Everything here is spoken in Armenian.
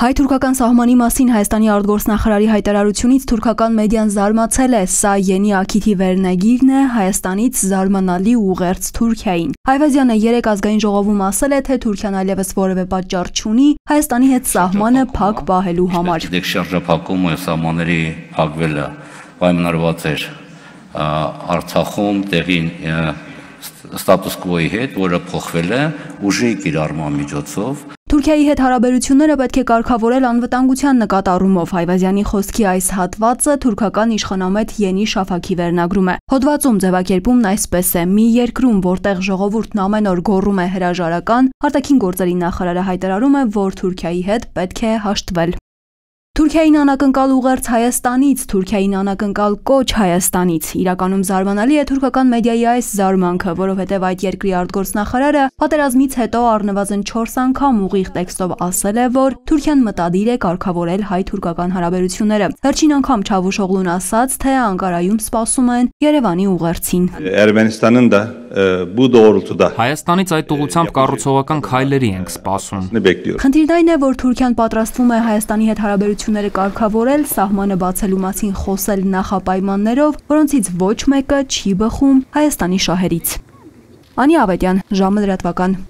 Հայ-թուրքական սահմանի մասին Հայաստանի արտգործնախարարի հայտարարությունից թուրքական մեդիան զարմացել է, սա Յենի Աքիթի վերնագիրն է Հայաստանից զարմանալի ուղերձ Թուրքիային։ Այվազյանը երեկ ազգային ժողովում ասել է, թե Թուրքիան այլևս որևէ պատճառ չունի Հայաստանի հետ սահմանը փակ պահելու համար։ Դեք շարժափակումը սահմանների փակվելը պայմանավորված էր Արցախում տեղին ստատուս կվոյի հետ, որը փոխվել է ուժի կիրառման միջոցով։ Թուրքիայի հետ հարաբերությունները պետք է կարգավորել անվտանգության նկատառումով։ Այվազյանի խոսքի այս հատվածը թուրքական իշխանամետ Յենի Շաֆաքի վերնագրում է։ Հոդվածում ձևակերպումն այսպես է. մի երկրում, որտեղ ժողովուրդն ամեն օր գոռում է հրաժարական, արտաքին գործերի նախարարը հայտարարում է, որ Թուրքիայի հետ պետք է հաշտվել։ Թուրքիային անակնկալ ուղերձ Հայաստանից, Թուրքիային անակնկալ կոչ Հայաստանից։ Իրականում զարմանալի է թուրքական մեդիայի այս զարմանքը, որովհետև այդ երկրի արտգործնախարարը պատերազմից հետո առնվազն 4 անգամ ուղիղ տեքստով ասել է, որ Թուրքիան մտադիր է կարգավորել հայ-թուրքական հարաբերությունները։ Վերջին անգամ Չավուշօղլուն ասաց, թե Անկարայում սպասում են Երևանի ուղերձին։ Ermənistanın da bu doğrultuda Հայաստանից այդ ուղղությամբ կառուցողական քայլերի ենք սպասում։ Խնդիրն այն է, որ Թուրքիան պատրաստվում է Հայաստանի հետ հարաբերությունները կարգավորել, սահմանը բացելու մասին խոսել նախապայմաններով, որոնցից ոչ մեկը չի բխում Հայաստանի շահերից։ Անի Ավետյան, ժամը լրատվական։